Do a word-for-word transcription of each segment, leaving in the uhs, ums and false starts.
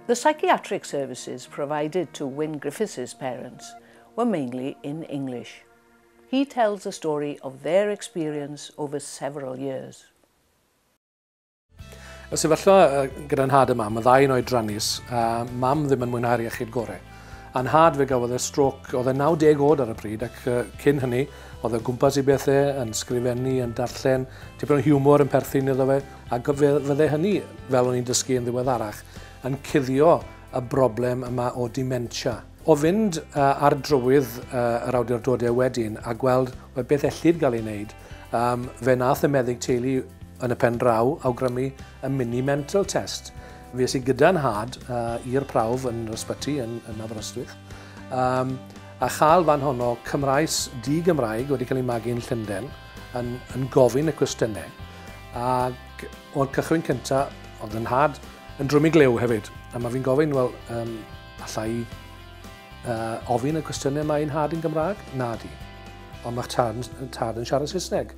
The psychiatric services provided to Wyn Griffiths' parents were mainly in English. He tells the story of their experience over several years. Y sefyllfa gyda'n nhad a mam, y ddau yn oedrannus, a mam ddim yn mwynhau'r iechyd gorau. A'n nhad fe gafodd e stroke, oedd e naw deg oed ar y pryd, ac cyn hynny, oedd e gwmpas i bethau, yn sgrifennu, yn darllen, tipyn o hiwmor yn perthyn iddo fe, ac fe fydde hynny, fel o'n i'n dysgu yn ddiweddarach, yn cuddio y broblem yma o dementia. O fynd ar drywydd yr awdurdodau wedyn a gweld beth ellid gael ei wneud, fe nath y meddyg teulu yn y pen draw awgrymu y mini mental test. Fe es i gyda nhad uh, i'r prawf yn yr ysbyty yn, yn Aberystwyth, um, a chael fan honno Cymraes di-Gymraeg wedi cael ei magu yn Llundain yn, yn gofyn y cwestiynau. Ac o'r cychwyn cyntaf, oedd yn nhad yn drwm i glyw hefyd. A mae fi'n gofyn, wel, um, alla i uh, ofyn y cwestiynau yma i'n nhad yn Gymraeg? Na di. Ond mae'ch tad, tad yn siarad Saesneg.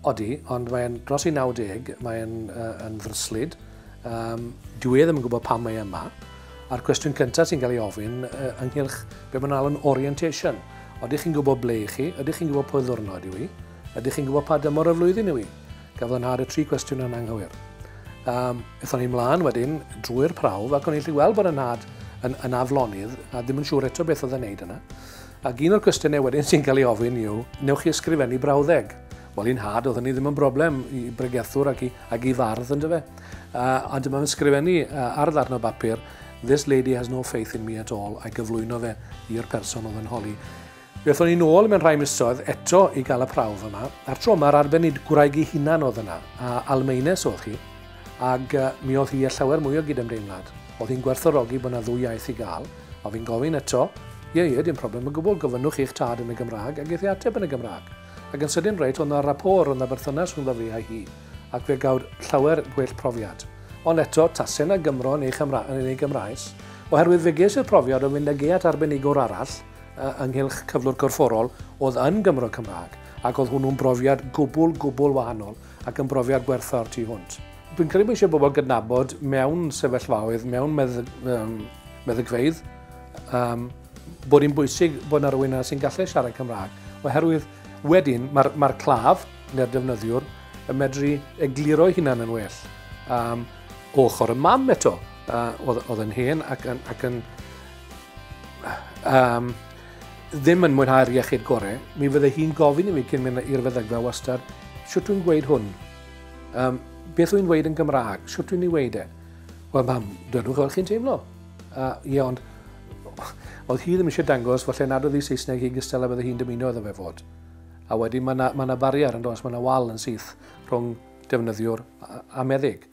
Odi, ond mae'n dros i naw deg, mae'n uh, yn ddryslyd. Um, dwi e ddim yn gwybod pam mae yma. A'r cwestiwn cyntaf sy'n cael ei ofyn uh, ynghylch be mae'n alw'n orientation. Ydych chi'n gwybod ble i chi? Ydych chi'n gwybod pwy ddwrnod yw i? Ydych chi'n gwybod pa dymor y flwyddyn yw i? Gafodd yn nhad y tri cwestiwn yn anghywir. Um, Aethon ni mlaen wedyn drwy'r prawf ac o'n i'n gallu gweld bod yn nhad yn, yn aflonydd a ddim yn siŵr eto beth oedd yn neud yna. Ac un o'r cwestiynau wedyn sy'n cael ei ofyn yw, newch chi ysgrifennu brawddeg? Wel, i'n nhad, oedd hynny ddim yn broblem i bregethwr ac i, ac i fardd, ynddo fe. Uh, a dyma fe'n sgrifennu uh, ar ddarn o bapur, "This lady has no faith in me at all," a'i gyflwyno fe i'r person oedd yn holi. Fe aethon ni nôl mewn rhai misoedd eto i gael y prawf yma, a'r tro yma'r arbenigwraig ei hunan oedd yna, a Almaenes oedd hi, ac uh, mi oedd hi â llawer mwy o gydymdeimlad. Oedd hi'n gwerthfawrogi bod yna ddwy iaith i gael, a fi'n gofyn eto, "Ie, ie, dim problem o gwbl, gofynnwch i'ch tad yn y Gymraeg," ac eith i ateb yn y Gymraeg. Ac yn sydyn reit, oedd yna rapport, oedd yna berthynas rhwngddo fi a hi, ac fe gawd llawer gwell profiad. Ond eto, tasau na Gymro neu, Chymra, neu Gymraes, oherwydd fe ges i'r profiad o fynd ag e at arbenigwr arall uh, ynghylch cyflwr corfforol oedd yn Gymro Cymraeg, ac oedd hwnnw'n brofiad gwbl, gwbl wahanol ac yn brofiad gwerthfawr tu hwnt. Dwi'n credu bod eisiau bobl gydnabod mewn sefyllfaoedd, mewn meddyg, um, meddygfeydd, um, bod hi'n bwysig bod yna rhywun yna sy'n gallu siarad Cymraeg, oherwydd wedyn mae'r mae claf neu'r defnyddiwr yn medru egluro ei hunan yn well. Um, ochr y mam eto, uh, oedd, oedd yn hen ac yn, ac yn um, ddim yn mwynhau'r iechyd gorau, mi fydde hi'n gofyn i fi cyn mynd i'r feddygfa wastad, "Sut dwi'n gweud hwn? Um, beth dwi'n dweud yn Gymraeg? Sut dwi'n ei weud e?" "Wel mam, dwedwch fel chi'n teimlo." Uh, ie, ond oedd hi ddim eisiau dangos falle nad oedd hi Saesneg hi gystal a bydde hi'n dymuno iddo fe fod. A wedyn mae yna ma, ma barier yn does, mae yna wal yn syth rhwng defnyddiwr a, a meddyg.